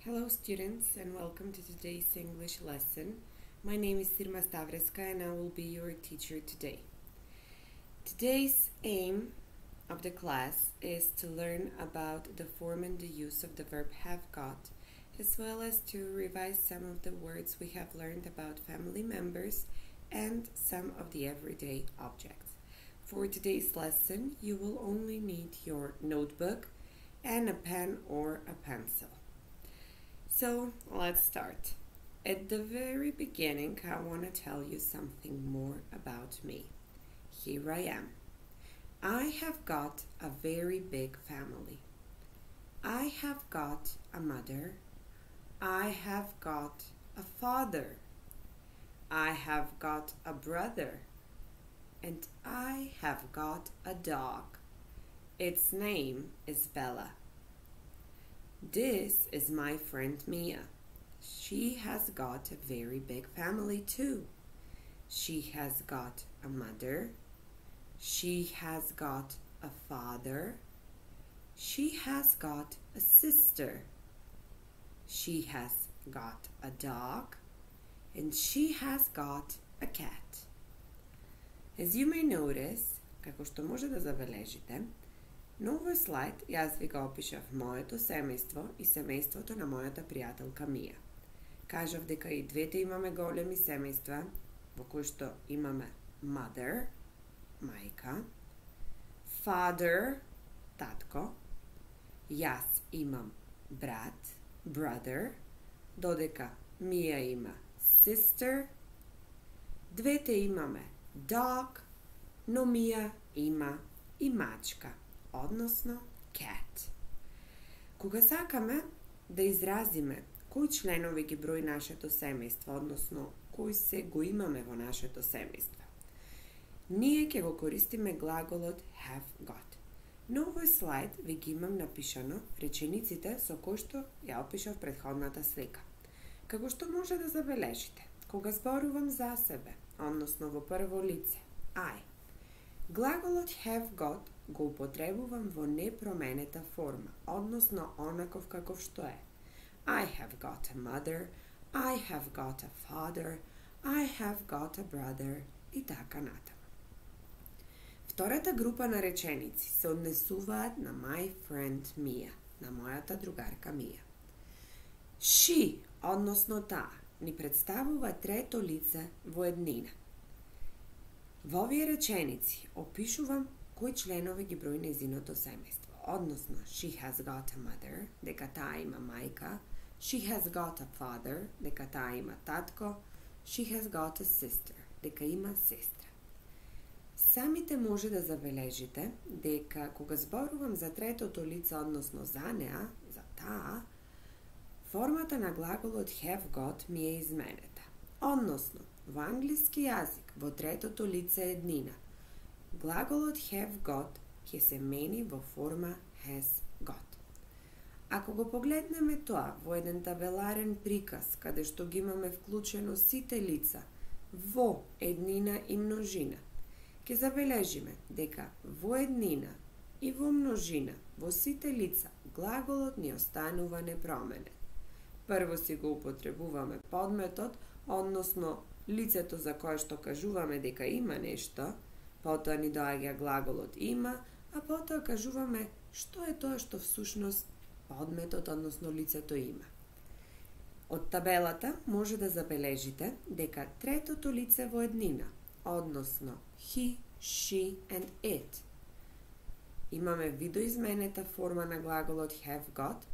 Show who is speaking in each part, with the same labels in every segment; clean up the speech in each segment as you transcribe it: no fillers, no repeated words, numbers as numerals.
Speaker 1: Hello students and welcome to today's English lesson. My name is Sirma Stavreska and I will be your teacher today. Today's aim of the class is to learn about the form and the use of the verb have got, as well as to revise some of the words we have learned about family members and some of the everyday objects. For today's lesson, you will only need your notebook and a pen or a pencil. So let's start. At the very beginning, I want to tell you something more about me. Here I am. I have got a very big family. I have got a mother. I have got a father. I have got a brother. And I have got a dog. Its name is Bella. This is my friend Mia. She has got a very big family too. She has got a mother. She has got a father. She has got a sister. She has got a dog. And she has got a cat. As you may notice, како што може да забележите, на овој слайд јас ви го опишав моето семејство и семејството на мојата пријателка Мија. Кажав дека и двете имаме големи семејства, во кои што имаме mother, мајка, father, татко, јас имам брат, brother, додека Мија има sister, двете имаме dog, но Мија има и мачка, односно cat. Кога сакаме да изразиме кои членови ги брои нашето семејство, односно кои се го имаме во нашето семејство, ние ќе го користиме глаголот have got. На овој слайд ви ги имам напишано речениците со кои што ја опишав претходната слика. Како што може да забележите, кога зборувам за себе, односно во прво лице, I, глаголот have got го употребувам во непроменета форма, односно онаков каков што е. I have got a mother, I have got a father, I have got a brother и така натаму. Втората група на реченици се однесуваат на my friend Mia, на мојата другарка Мија. She, односно таа, ни представува трето лице во еднина. Во овие реченици опишувам кои членови ги брои нејзиното семејство, односно she has got a mother, дека таа има мајка, she has got a father, дека таа има татко, she has got a sister, дека има сестра. Самите може да забележите дека кога зборувам за третото лице, односно за неа, за таа, формата на глаголот have got ми е изменета. Односно, во англиски јазик, во третото лице еднина, глаголот have got ќе се мени во форма has got. Ако го погледнеме тоа во еден табеларен приказ, каде што ги имаме вклучено сите лица во еднина и множина, ќе забележиме дека во еднина и во множина, во сите лица, глаголот ни останува непроменет. Прво си го употребуваме подметот, односно лицето за кое што кажуваме дека има нешто, потоа ни доаѓа глаголот има, а потоа кажуваме што е тоа што всушност подметот, односно лицето има. Од табелата може да забележите дека третото лице во еднина, односно he, she and it, имаме видоизменета форма на глаголот have got,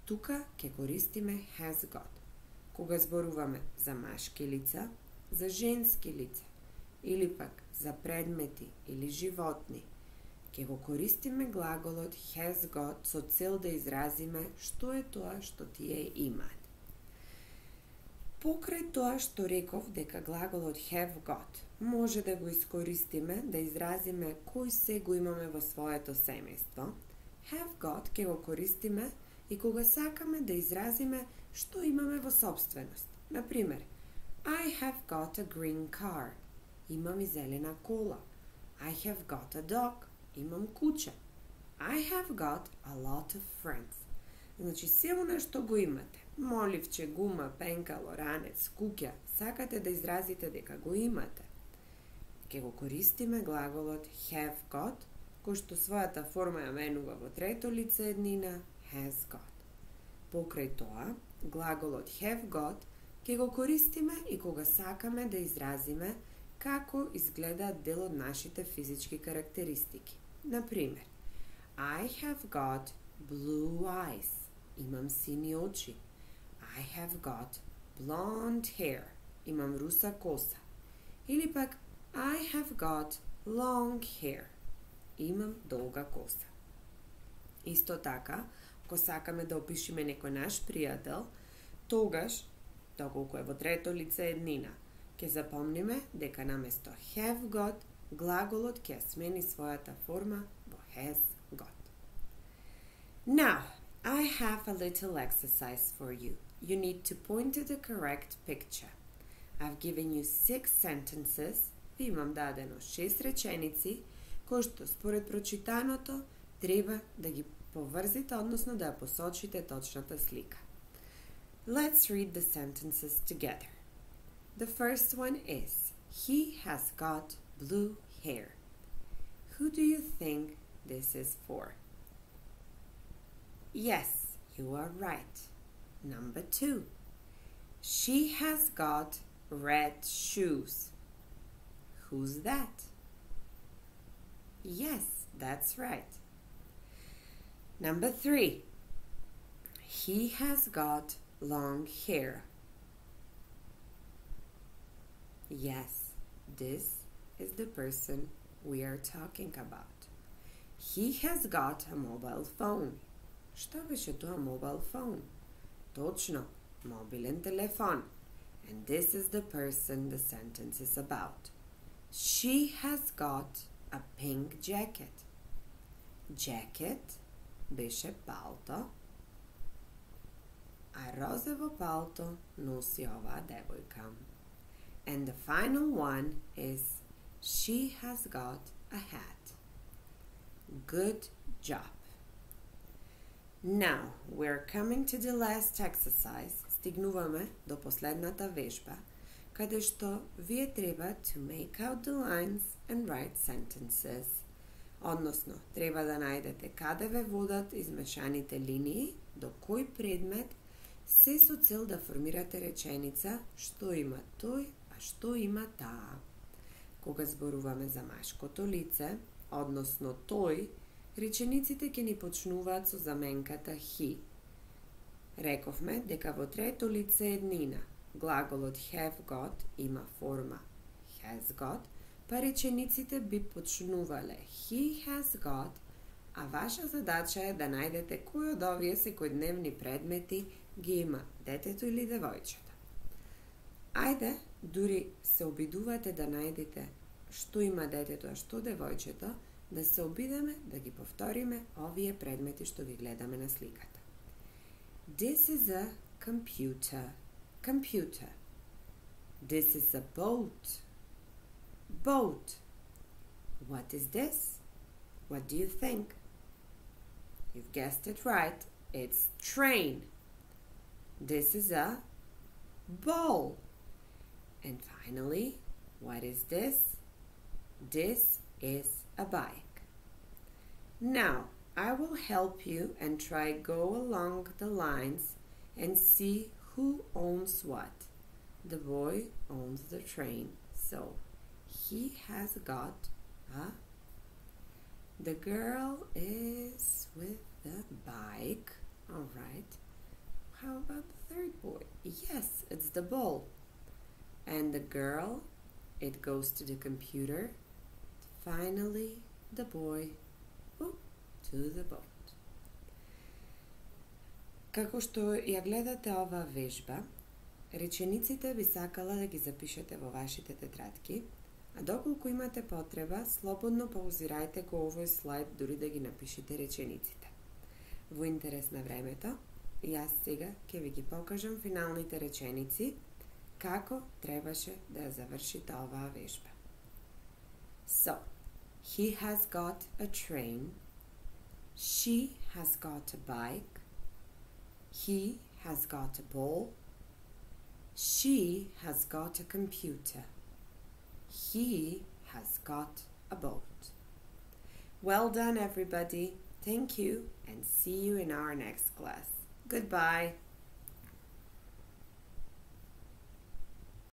Speaker 1: тука ќе користиме has got. Кога зборуваме за машки лица, за женски лица, или пак за предмети или животни, ќе го користиме глаголот has got со цел да изразиме што е тоа што тие имаат. Покрај тоа што реков дека глаголот have got може да го искористиме да изразиме кој се го имаме во своето семејство, have got ќе го користиме и кога сакаме да изразиме што имаме во собственост. Например, I have got a green car. Имам и зелена кола. I have got a dog. Имам куче. I have got a lot of friends. Значи, се она што го имате, моливче, гума, пенкало, ранец, куќа, сакате да изразите дека го имате, ќе го користиме глаголот have got, кој што својата форма ја менува во трето лице еднина has got. Покрај тоа, глаголот have got ќе го користиме и кога сакаме да изразиме како изгледаат дел од нашите физички карактеристики. Например, I have got blue eyes. Имам сини очи. I have got blonde hair. Имам руса коса. Или пак I have got long hair. Имам долга коса. Исто така, ако сакаме да опишеме некој наш пријател, тогаш, доколку е во трето лице еднина, ќе запомниме дека наместо have got, глаголот ќе смени својата форма во has got. Now, I have a little exercise for you. You need to point to the correct picture. I've given you 6 sentences. Ви имам дадено 6 реченици, кои што според прочитаното треба да ги поврзите, односно да ја посочите точната слика. Let's read the sentences together. The first one is, he has got blue hair. Who do you think this is for? Yes, you are right. Number 2. She has got red shoes. Who's that? Yes, that's right. Number 3. He has got long hair. Yes, this is the person we are talking about. He has got a mobile phone. Што беше тоа mobile phone? Точно, мобилен телефон. And this is the person the sentence is about. She has got a pink jacket. Jacket беше палто, а розово палто носи оваа девојка. And the final one is she has got a hat. Good job. Now, we're coming to the last exercise. Стигнуваме до последната вежба, каде што вие треба to make out the lines and write sentences. Односно, треба да најдете каде ве водат измешаните линии, до кој предмет, се со цел да формирате реченица што има тој, а што има таа. Кога зборуваме за машкото лице, односно тој, речениците ќе ни почнуваат со заменката he. Рековме дека во трето лице еднина, глаголот have got има форма has got, па речениците би почнувале he has got, а ваша задача е да најдете кој од овие секојдневни предмети ги има детето или девојчето. Ајде, дури се обидувате да најдете што има детето, а што девојчето, да се обидеме да ги повториме овие предмети што ги гледаме на сликата. This is a computer. Computer. This is a boat. Boat. What is this? What do you think? You've guessed it right. It's train. This is a ball. And finally, what is this? This is a bike. Now, I will help you and try go along the lines and see who owns what. The boy owns the train, so he has got a... The girl is with the bike. All right. How about the third boy? Yes, it's the ball. And the girl, it goes to the computer. Finally, the boy to the boat. Како што ја гледате оваа вежба, речениците би сакала да ги запишете во вашите тетрадки, а доколку имате потреба, слободно паузирајте го овој слайд, дури да ги напишете речениците. Во интерес на времето, јас сега ќе ви ги покажам финалните реченици, како требаше да ја завршите оваа вежба. So, he has got a train. She has got a bike. He has got a ball. She has got a computer. He has got a boat. Well done, everybody. Thank you, and see you in our next class. Goodbye.